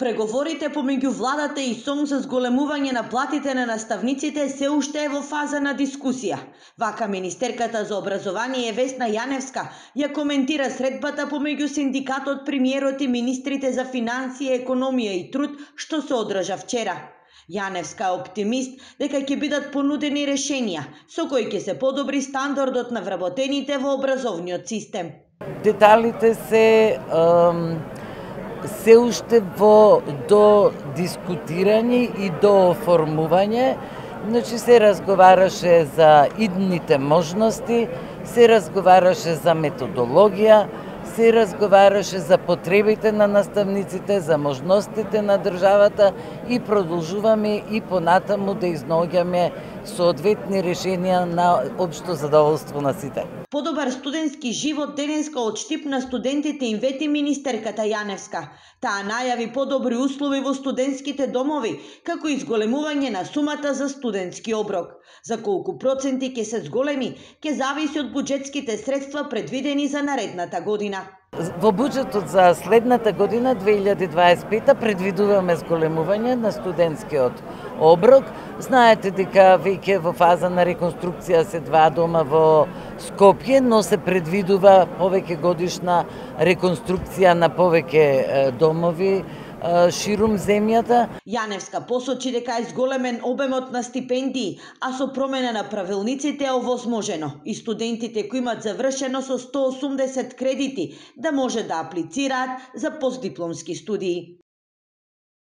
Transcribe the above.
Преговорите помеѓу владата и СОМ за зголемување на платите на наставниците се уште е во фаза на дискусија. Вака министерката за образование Весна Јаневска ја коментира средбата помеѓу синдикатот, премиерот и министрите за финансија, економија и труд што се одржа вчера. Јаневска е оптимист дека ќе бидат понудени решенија со кои ќе се подобри стандардот на вработените во образовниот систем. Деталите се уште во до дискутирање и до оформување. Значи се разговараше за идните можности, се разговараше за методологија, се разговараше за потребите на наставниците, за можностите на државата и продолжуваме и понатаму да изнаоѓаме соодветни решенија на општо задоволство на сите. Подобар студентски живот денеска од штип на студентите им вети министерката Јаневска. Таа најави подобри услови во студентските домови, како и зголемување на сумата за студентски оброк. За колку проценти ќе се зголеми, ќе зависи од буџетските средства предвидени за наредната година. Во буџетот за следната година, 2025, предвидуваме зголемување на студентскиот оброк. Знаете дека веќе во фаза на реконструкција се два дома во Скопје, но се предвидува повеќе годишна реконструкција на повеќе домови ширум земјата. Јаневска посочи дека е зголемен обемот на стипендии, а со промена на правилниците е овозможено и студентите кои имат завршено со 180 кредити да може да аплицираат за постдипломски студии.